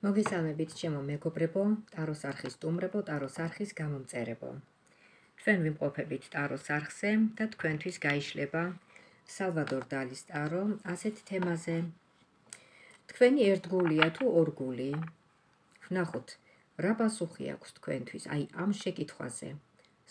მოგესალმებით ჩემო მეგობრებო, ტაროს არხის სტუმრებო, ტაროს არხის გამომწერებო. ჩვენ ვიმყოფებით ტაროს არხზე და თქვენთვის გაიშლება სალვადორ დალის ტარო ასეთ თემაზე. თქვენი ერთგულია თუ ორგული? ვნახოთ, რა პასუხი აქვს თქვენთვის აი ამ შეკითხვაზე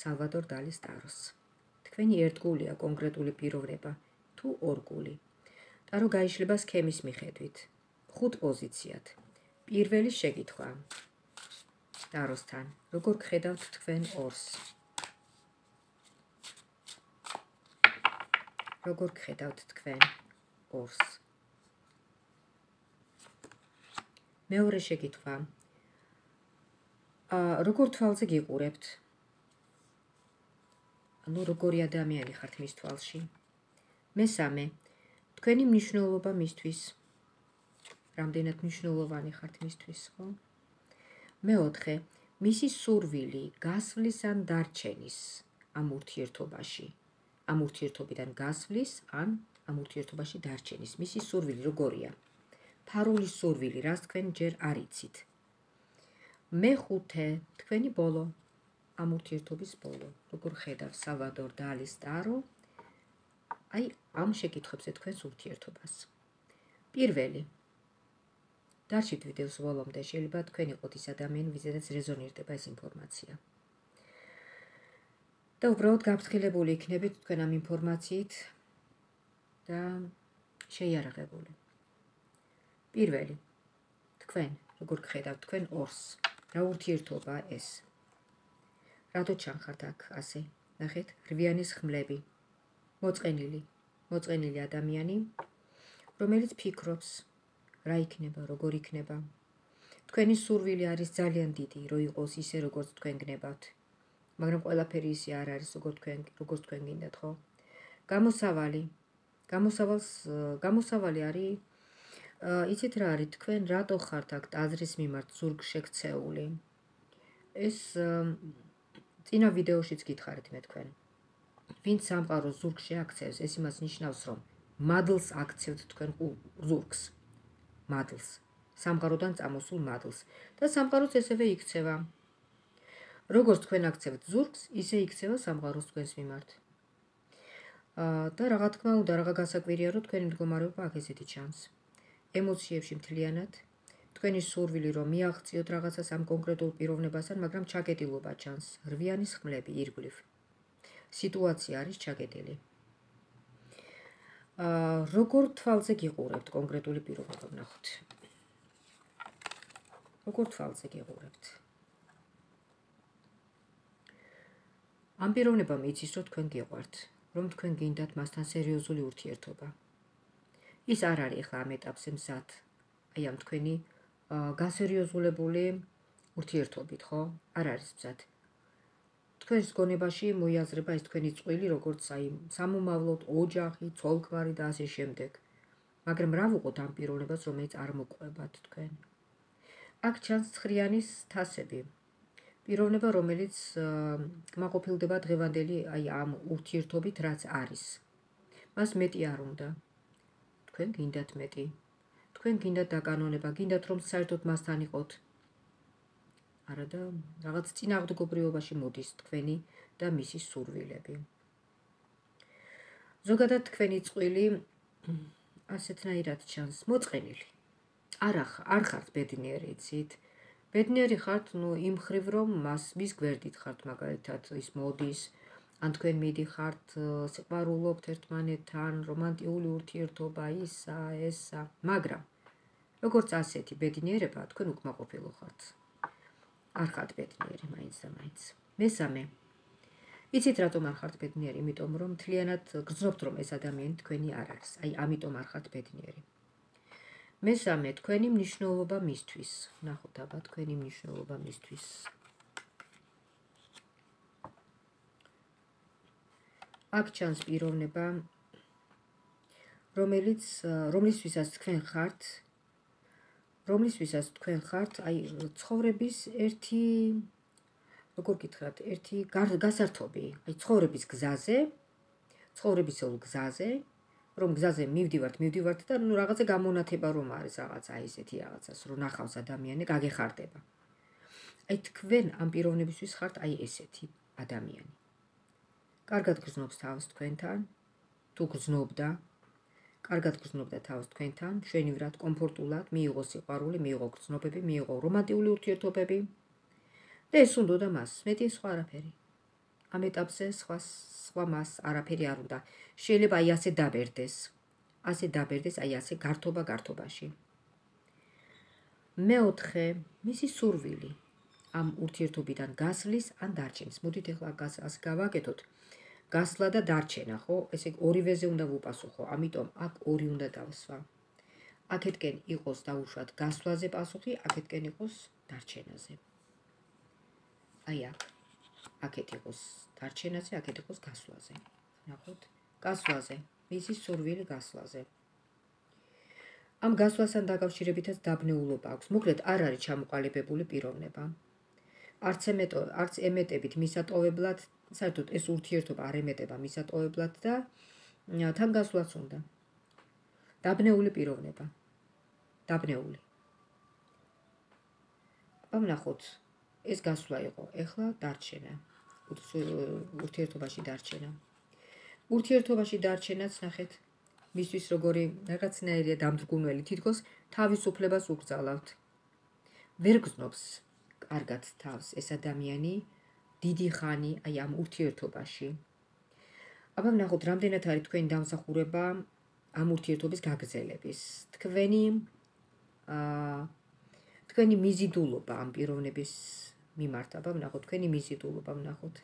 სალვადორ დალის ტაროს. თქვენი ერთგულია კონკრეტული პიროვნება თუ ორგული? ტარო გაიშლება სქემის მიხედვით, 5 პოზიციად. პირველი შეკითხვა ტაროსთან, როგორ გხედავთ თქვენ ორს? როგორ გხედავთ თქვენ ორს? მეორე შეკითხვა, როგორ თვალზე გიყურებთ? ანუ როგორი ადამიანი ხართ მის თვალში? მესამე, თქვენი მნიშვნელობა მისთვის. რამდენად მნიშვნელოვანი ხართ მისთვის, ხო? მეოთხე, მისი სურვილი გასვლის ან დარჩენის ამ ურთიერთობაში, ამ ურთიერთობიდან გასვლის ან ამ ურთიერთობაში დარჩენის, მისი სურვილი როგორია? ფარული სურვილი, რას თქვენ ჯერ არ იცით. მეხუთე, თქვენი ბოლო, ამ ურთიერთობის ბოლო, როგორ ხედავს სალვადორ დალის ტარო აი ამ შეკითხვებზე თქვენს ურთიერთობას. პირველი, დარჩით ვიდეოს ბოლომდე, შეიძლება თქვენ იყოთ ის ადამიანი, ვიზედაც რეზონირდება ეს ინფორმაცია. და უბრალოდ გაფრთხილებული იქნებით თქვენ ამ ინფორმაციით და შეიარაღებული. პირველი, თქვენ როგორ გხედავთ თქვენ ორს? რა ურთიერთობა ეს? რატო ჩანხართ აქ ასე? ნახეთ, რვიანის ხმლები. მოწყენილი ადამიანი, რომელიც ფიქრობს რა იქნება, როგორ იქნება. თქვენი სურვილი არის ძალიან დიდი, რომ იყოს ისე, როგორც თქვენ გნებავთ. მაგრამ ყველაფერი ისე არ არის, როგორც თქვენ გინდათ, ხო? გამოსავალი არის, იცით რა არის, თქვენ რატო ხართ აქ ტაძრის მიმართ ზურგშექცეული? ეს წინა ვიდეოშიც გითხარით მე თქვენ. ვინც სამყაროს ზურგში აქცევს, ეს იმას ნიშნავს, რომ მადლს აქცევთ თქვენ ზურგს. მადლს, სამყაროდან წამოსულ მადლს და სამყაროც ესევე იქცევა. როგორც თქვენ აქცევთ ზურგს, ისე იქცევა სამყაროს თქვენს მიმართ. და რაღა თქმა უნდა, რაღა გასაკვირია, რომ თქვენი მდგომარეობა აქ ესეთი ჩანს. ემოციებში მთლიანად, თქვენი სურვილი რომ მიაღწიოთ რაღაცას ამ კონკრეტულ პიროვნებასთან, მაგრამ ჩაკეტილობა ჩანს, რვიანის ხმლები ირგვლივ. სიტუაცია არის ჩაკეტილი. როგორ თვალზე გიყურებთ კონკრეტული პიროვნება, ვნახოთ. როგორ თვალზე გიყურებთ? ამ პიროვნებამ იცის, რომ თქვენ გიყვართ, რომ თქვენ გინდათ მასთან სერიოზული ურთიერთობა. ის არ არის ახლა ამ ეტაპზე მზად, აი ამ თქვენი გასერიოზულებული ურთიერთობით, ხო? არ არის მზად. თქვენს გონებაში მოიაზრება ეს თქვენი წყვილი, როგორც აი სამომავლოდ, ოჯახი, ცოლ-ქმარი და ასე შემდეგ. მაგრამ რა ვუყოთ ამ პიროვნებას, რომელიც არ მოყვებათ თქვენ? აქ ჩანს ცხრიანის თასები. პიროვნება, რომელიც კმაყოფილდება დღევანდელი აი ამ ურთიერთობით, რაც არის. მას მეტი არ უნდა. თქვენ გინდათ მეტი. თქვენ გინდათ დაკანონება, გინდათ რომ საერთოდ მასთან იყოთ. არა და რაღაც წინააღმდეგობრივობაში მოდის თქვენი და მისი სურვილები. ზოგადად თქვენი წყვილი ასეთნაირად ჩანს, მოწყენილი. არ ხართ ბედნიერი, იცით? ბედნიერი ხართ, იმ ხრივ რომ მის გვერდით ხართ, მაგალითად ის მოდის, ან თქვენ მიდიხართ, სიყვარულობთ ერთმანეთთან, რომანტიკული ურთიერთობა, ესა, მაგრამ როგორც ასეთი ბედნიერება, თქვენ უკმაყოფილო ხართ. არ ხართ ბედნიერი მაინც და მაინც. მესამე, იცით რატომ არ ხართ ბედნიერი? იმიტომ რომ მთლიანად გრძნობთ რომ ეს ადამიანი თქვენი არ არის. აი ამიტომ არ ხართ ბედნიერი. მესამე, თქვენი მნიშვნელობა მისთვის. ნახოთ აბა თქვენი მნიშვნელობა მისთვის. აქ ჩანს პიროვნება, რომლისთვისაც თქვენ ხართ, აი ცხოვრების ერთი, როგორ გითხრათ, ერთი გასართობი, აი ცხოვრების გზაზე, ცხოვრებისეულ გზაზე, რომ გზაზე მივდივართ და ნუ რაღაცა გამონათება რომ არის რაღაცა ესეთი რაღაცას რომ ნახავს ადამიანი გაგეხარდება. აი თქვენ ამ პიროვნებისთვის ხართ აი ესეთი ადამიანი. კარგად გრძნობს თავს თქვენთან, თუ გრძნობდა, კარგად გრძნობდა თავს თქვენთან, მშვენივრად, კომფორტულად, მიიღო სიყვარული, მიიღო გრძნობები, მიიღო რომანტიკული ურთიერთობები და ეს უნდოდა მას, მეტი სხვა არაფერი. ამ ეტაპზე სხვა მას არაფერი არ უნდა. შეიძლება აი ასე დაბერდეს, აი ასე გართობაში. მეოთხე, მისი სურვილი ამ ურთიერთობიდან გასვლის ან დარჩენის. მოდით ახლა ასე გავაკეთოთ. გასვლა და დარჩენა, ხო? ესე ორივეზე უნდა ვუპასუხო, ამიტომ აქ ორი უნდა დავსვა. აქეთკენ იყოს დაუშვათ გასვლაზე პასუხი, აქეთკენ იყოს დარჩენაზე. აი აქ. აქეთ იყოს დარჩენაზე, აქეთ იყოს გასვლაზე. ნახოთ, გასვლაზე, მისი სურვილი გასვლაზე. ამ გასვლასთან დაკავშირებითაც დაბნეულობა აქვს. მოკლედ არ არის ჩამოყალიბებული პიროვნება. არც ემეტებით მისატოვებლად, საერთოდ ეს ურთიერთობა არ ემეტება მისატოვებლად და თან გასვლაც უნდა. დაბნეული პიროვნება. დაბნეული. ვნახოთ, ეს გასვლა იყო, ეხლა დარჩენა. ურთიერთობაში დარჩენა. ურთიერთობაში დარჩენაც ნახეთ, მისთვის როგორი რაღაცნაირია დამძგუნველი, თითქოს თავისუფლებას უგრძალავთ. ვერ გრძნობს კარგად თავს ეს ადამიანი დიდი ხანი აი ამ ურთიერთობაში. აბა ვნახოთ, რამდენად არის თქვენი დამსახურება ამ ურთიერთობის გაგრძელების. თქვენი მიზიდულობა ამ პიროვნების მიმართ. აბა ვნახოთ, თქვენი მიზიდულობა ვნახოთ.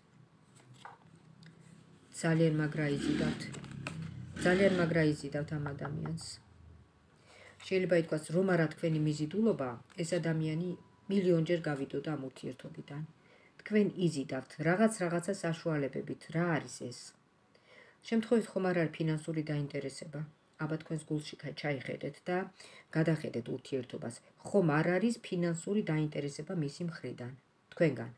ძალიან მაგრა იზიდავთ ამ ადამიანს. შეიძლება ითქვას, რომ არა თქვენი მიზიდულობა, ეს ადამიანი მილიონჯერ გავიდოდა ამ ურთიერთობიდან. თქვენ იზიდავთ რაღაცა საშუალებებით, რა არის ეს? შემთხვევით ხომ არ არის ფინანსური დაინტერესება. აბა თქვენს გულში ჩაიხედეთ და გადახედეთ ურთიერთობას. ხომ არ არის ფინანსური დაინტერესება მისი მხრიდან, თქვენგან.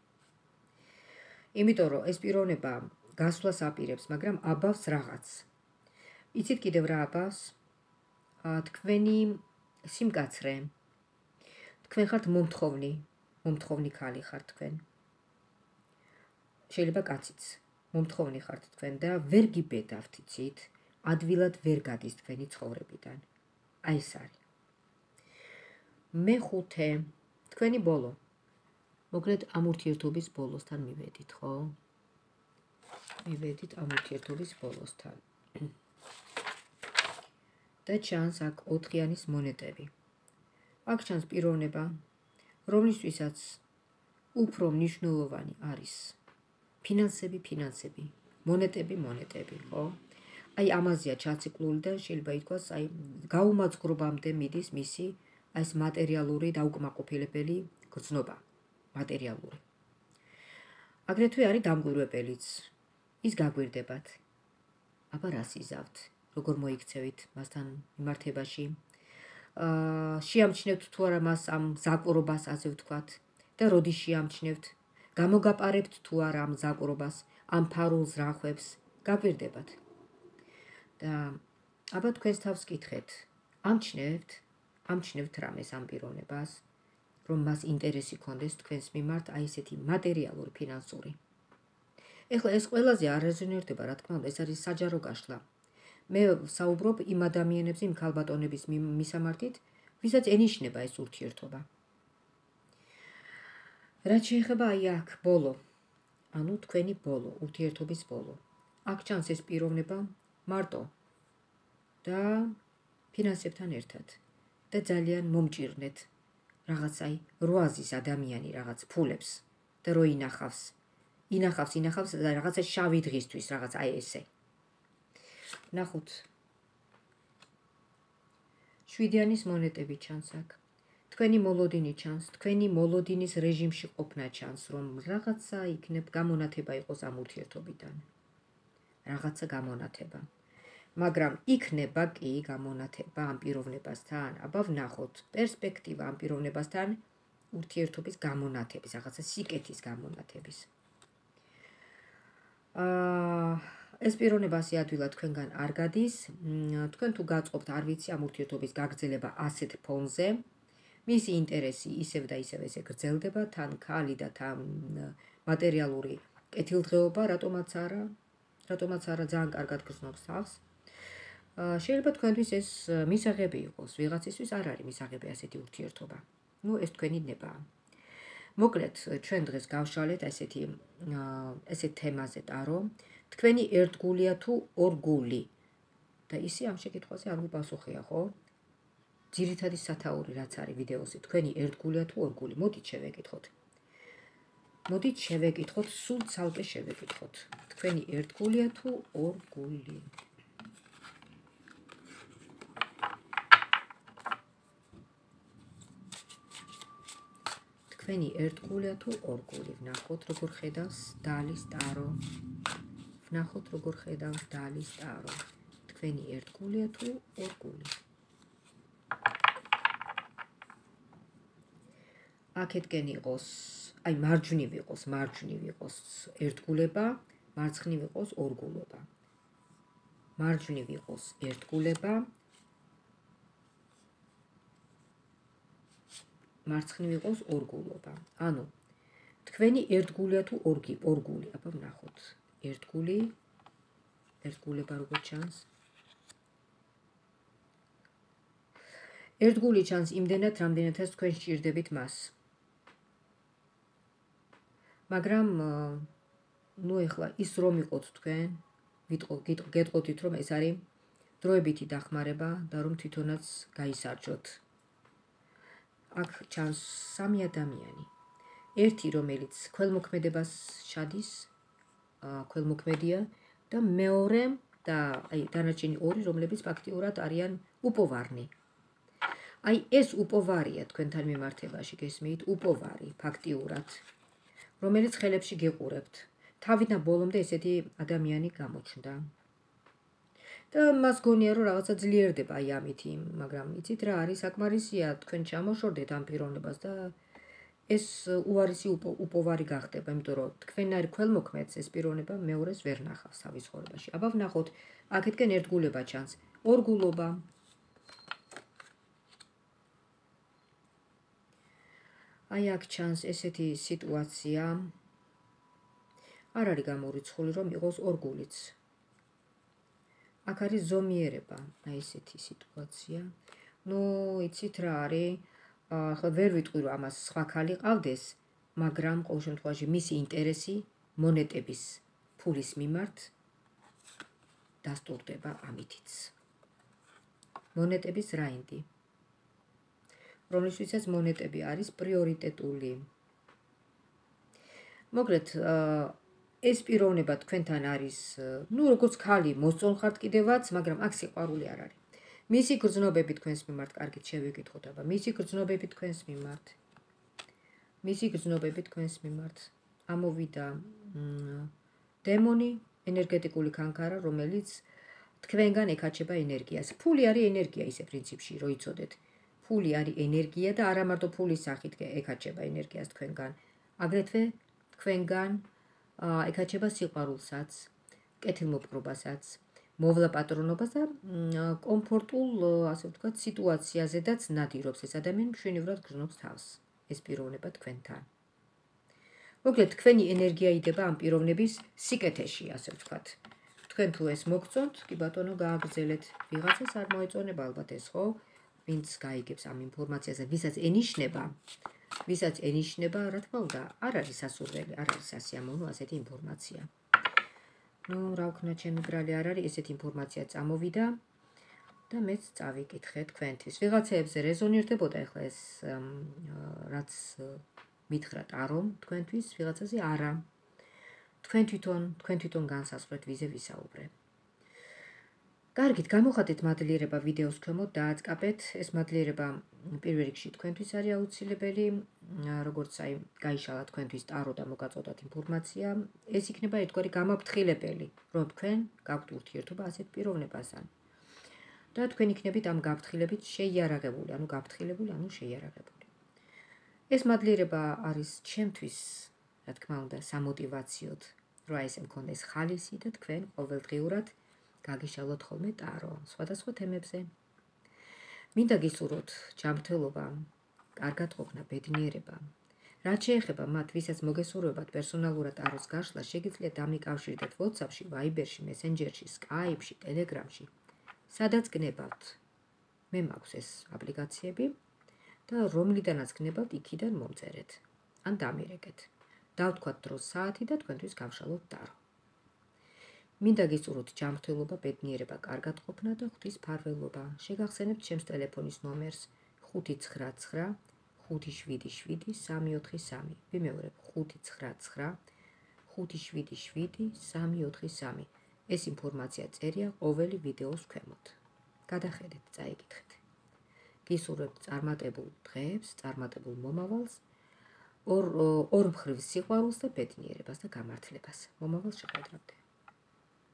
იმიტომ რომ ეს პიროვნება გასვლას აპირებს, მაგრამ აბავს რაღაც. იცით კიდევ რა აბავს? თქვენი სიმკაცრე. თქვენ ხართ მომთხოვნი ქალი ხართ თქვენ. შეიძლება კაციც. მომთხოვნი ხართ თქვენ და ვერ გიბედავთ, იცით? ადვილად ვერ გადის თქვენი ცხოვრებიდან. აი ეს არის. მეხუთე, თქვენი ბოლო. მოკლედ ამ ურთიერთობის ბოლოსთან მივედით, ხო? მივედით ამ ურთიერთობის ბოლოსთან. და ჩანს აქ 4-იანის მონეტები. აქ ჩანს პიროვნება, რომლისთვისაც უფრო მნიშვნელოვანი არის ფინანსები, მონეტები, ხო? აი ამაზეა ჩაციკლული და შეიძლება ითქვას, აი გაუმაძღრობამდე მიდის მისი აი ეს მატერიალური დაუკმაყოფილებელი გრძნობა, მატერიალური. აგრეთვე არის დამკვირვებელიც. ის გაგვირდებათ. აბა რას იზავთ? როგორ მოიქცევით მასთან მიმართებაში? შეამჩნევთ თუ არა მას ამ მზაკვრობას, ასე ვთქვათ, და როდის შეამჩნევთ? გამოგაპარებთ თუ არა ამ მზაკვრობას, ამ ფარულ ზრახვებს? გაგვირდებათ. და აბა თქვენს თავს კითხეთ, ამჩნევთ რამეს ამ პიროვნებას, რომ მას ინტერესი ქონდეს თქვენს მიმართ აი ესეთი მატერიალური, ფინანსური. ეხლა ეს ყველაზე არ რეზონირდება, რა თქმა უნდა, ეს არის საჯარო გაშლა. მე საუბრობ იმ ადამიანებზე, იმ ქალბატონების მისამართით, ვისაც ენიშნება ეს ურთიერთობა. რაც შეეხება აი აქ ბოლო, ანუ თქვენი ბოლო, ურთიერთობის ბოლო. აქ ჩანს ეს პიროვნება მარტო და ფინანსებთან ერთად და ძალიან მომჭირნეთ რაღაცაი როაზის ადამიანი რაღაც ფულებს და რო ინახავს და რაღაცა შავი დღისთვის რაღაც აი ესე. ნახოთ. 7-იანის მონეტები ჩანს აქ. თქვენი მოლოდინი ჩანს, თქვენი მოლოდინის რეჟიმში ყოფნა ჩანს, რომ რაღაცა იქნებ გამონათება იყოს ამ ურთიერთობიდან. რაღაცა გამონათება. მაგრამ იქნება კი გამონათება ამ პიროვნებასთან, აბა ვნახოთ პერსპექტივა ამ პიროვნებასთან ურთიერთობის გამონათების, რაღაცა სიკეთის გამონათების. ეს პიროვნება ასე ადვილად თქვენგან არ გადის, თქვენ თუ გაწყობთ, არ ვიცი, ამ ურთიერთობის გაგრძელება ასეთ ფონზე, მისი ინტერესი ისევ და ისევ ესე გრძელდება, თან ქალი და თან მატერიალური კეთილდღეობა, რატომაც არა ძალიან კარგად გრძნობს თავს. შეიძლება თქვენთვის ეს მისაღები იყოს, ვიღაცისთვის არ არის მისაღები ასეთი ურთიერთობა. ეს თქვენი ნებაა. მოკლედ, ჩვენ დღეს გავშალეთ ესეთ თემაზე ტარო, თქვენი ერთგულია თუ ორგული. და ისი ამ შეკითხვაზე არ ვიპასუხია, ხო? ძირითადი სათაური რაც არის ვიდეოზე, თქვენი ერთგულია თუ ორგული. მოდით შევეკითხოთ, სულ ცალკე შევეკითხოთ. თქვენი ერთგულია თუ ორგული. თქვენი ერთგულია თუ ორგული. ვნახოთ, როგორ ხედავს დალის ტარო. თქვენი ერთგულია თუ ორგული. აქეთკენ იყოს, მარჯვნივ იყოს ერთგულება, მარცხნივ იყოს ორგულობა. მარჯვნივ იყოს ერთგულება, მარცხნივ იყოს ორგულობა. ანუ თქვენი ერთგულია თუ ორგული. აბა ვნახოთ. ერთგულება როგორ ჩანს? ერთგული ჩანს იმდენად, რამდენადაც თქვენ სჭირდებით მას. მაგრამ ეხლა ის რომ იყოთ თქვენ, გეტყოდით რომ ეს არის დროებითი დახმარება და რომ თვითონაც გაისარჯოთ. აქ ჩანს სამი ადამიანი. ერთი რომელიც ქველმოქმედებას ჩადის, ქველმოქმედია და მეორე და დანარჩენი ორი რომლებიც ფაქტიურად არიან უპოვარნი. ეს უპოვარია თქვენთან მიმართებაში, გესმით? უპოვარი ფაქტიურად, რომელიც ხელებში გიყურებთ. თავიდან ბოლომდე ესეთი ადამიანი გამოჩნდა. და მას გონია რომ რაღაცა ძლიერდება ამითი, მაგრამ იცით რა არის საკმარისია თქვენ ჩამოშორდეთ ამ პიროვნებას და ეს უარესი უპოვარი გახდება, იმიტომ რომ თქვენარ ქველმოქმედს ეს პიროვნება მეორეს ვერ ნახავს თავის ცხოვრებაში. აბა ვნახოთ, აქეთკენ ერთგულება ჩანს, ორგულობა. აქ ჩანს ესეთი სიტუაცია. არ არის გამორიცხული რომ იყოს ორგულიც. აქ არის ზომიერება, ესეთი სიტუაცია. იცით რა არის? ახლა ვერ ვიტყვი რომ ამას სხვა ქალი ყავდეს, მაგრამ ყოველ შემთხვევაში მისი ინტერესი მონეტების ფულის მიმართ დასტურდება ამითიც. მონეტების რაინდი, რომლისთვისაც მონეტები არის პრიორიტეტული. მოკლედ, ეს პიროვნება თქვენთან არის, როგორც ქალი მოსწონ ხართ კიდევაც, მაგრამ აქ სიყვარული არ არის. მისი გრძნობები თქვენს მიმართ, კარგით შევეკითხოთ, აბა, მისი გრძნობები თქვენს მიმართ. ამოვიდა დემონი, ენერგეტიკული კანკარა, რომელიც თქვენგან ეკაჩება ენერგიას. ფული არის ენერგია ისე პრინციპში, რომ იცოდეთ. ფული არის ენერგია და არა მარტო ფულის სახით ეკაჩება ენერგიას თქვენგან. აგრეთვე თქვენგან ეკაჩება სიყვარულსაც, კეთილმოპყრობასაც, მოვლაპატრონობას და კომფორტულ, ასე ვთქვათ, სიტუაციაზედაც ნადირობს ეს ადამიანი, მშვენივრად გრძნობს თავს ეს პიროვნება თქვენთან. მოკლედ, თქვენი ენერგია იდება ამ პიროვნების სიკეთეში, ასე ვთქვათ. თქვენ თუ ეს მოგწონთ, კი ბატონო, გააგრძელეთ. ვიღაცას არ მოეწონება ალბათ ეს, ხო? ვინც გაიგებს ამ ინფორმაციაზე, ვისაც ენიშნება, რა თქმა უნდა, არ არის სასურველი, არ არის სასიამოვნო ასეთი ინფორმაცია. რა ვქნა, ჩემი ბრალი არ არის, ესეთი ინფორმაცია წამოვიდა და მეც წავიკითხე თქვენთვის. ვიღაცეებზე რეზონირდებოდა ახლა ეს რაც მითხრა ტარომ თქვენთვის, ვიღაცაზე არა. თქვენ თვითონ განსაზღვრეთ ვიზე ვისაუბრე. კარგით, გამოხატეთ მადლიერება ვიდეოს ქვემოთ, დააწყაბეთ. ეს მადლიერება პირველ რიგში თქვენთვის არის აუცილებელი, როგორც გაიშალა თქვენთვის ტარო და მოგაწოდათ ინფორმაცია. ეს იქნება ერთგვარი გამაფრთხილებელი, რომ თქვენ გაქვთ ურთიერთობა ასეთ პიროვნებასთან. და თქვენ იქნებით ამ გაფრთხილებით შეიარაღებული, შეიარაღებული. ეს მადლიერება არის ჩემთვის, რა თქმა უნდა, სამოტივაციოდ, რა ესე მქონდეს ხალისი და თქვენ ყოველდღიურად გაგიშალოთ ხოლმე ტარო სხვადასხვა თემებზე. მინდა გისურვოთ ჯანმრთელობა, კარგად ყოფნა, ბედნიერება. რაც შეეხება მათ, ვისაც მოგესურვებათ პერსონალურად ტაროს გაშლა, შეგიძლიათ დამიკავშირდეთ WhatsApp-ში, Viber-ში, Messenger-ში, Skype-ში, Telegram-ში. სადაც გნებავთ. მე მაქვს ეს აპლიკაციები და რომლიდანაც გნებავთ, იქიდან მომწერეთ. ან დამირეკეთ. დავთქვათ დროს საათი და თქვენთვის გავშალოთ ტარო. მინდა გისურვოთ ჯანმრთელობა, ბედნიერება, კარგად ყოფნა და ღვთის ფარველობა. შეგახსენებთ ჩემს ტელეფონის ნომერს 599 577 343. ვიმეორებ 599 577 343. ეს ინფორმაცია წერია ყოველი ვიდეოს ქვემოთ. გადახედეთ, წაიკითხეთ. გისურვებთ წარმატებულ დღეებს, წარმატებულ მომავალს, ორ მხრივ სიყვარულს და ბედნიერებას და გამართლებას. მომავალ შეხვედრამდე.